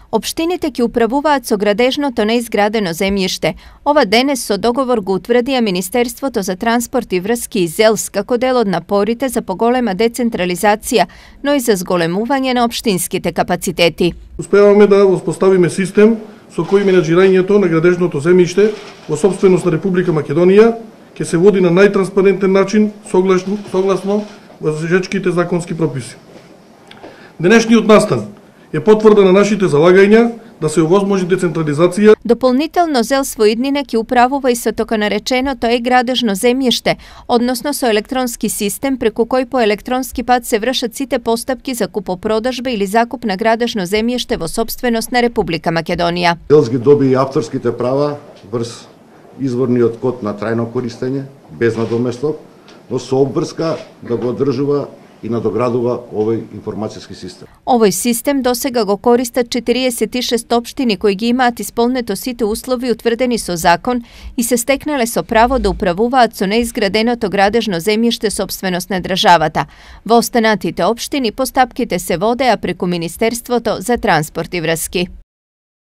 Општините ќе управуваат со градежното неизградено земјиште. Ова денес со договор го утврдија Министерството за транспорт и врски и ЗЕЛС како дел од напорите за поголема децентрализација, но и за зголемување на општинските капацитети. Успеваме да воспоставиме систем со кој менаџирањето на градежното земјиште во сопственост на Република Македонија ќе се води на најтранспарентен начин согласно важечките законски прописи. Денешниот настан е потврда на нашите залагања да се овозможи децентрализација. Дополнително ЗЕЛС во иднина ќе управува и со така нареченото градежно земјиште, односно со електронски систем преку кој по електронски пат се вршат сите постапки за купопродажба или закуп на градежно земјиште во сопственост на Република Македонија. ЗЕЛС ги доби и авторските права врз изворниот код на трајно користење, без надоместок, но со обврска да го одржува и надоградува овој информацијски систем. Овој систем досега го користат 46 општини кои ги имаат исполнето сите услови утврдени со закон и се стекнале со право да управуваат со неизграденото градежно земјиште сопственост на државата. Во останатите општини постапките се водеа преку Министерството за транспорт и врски.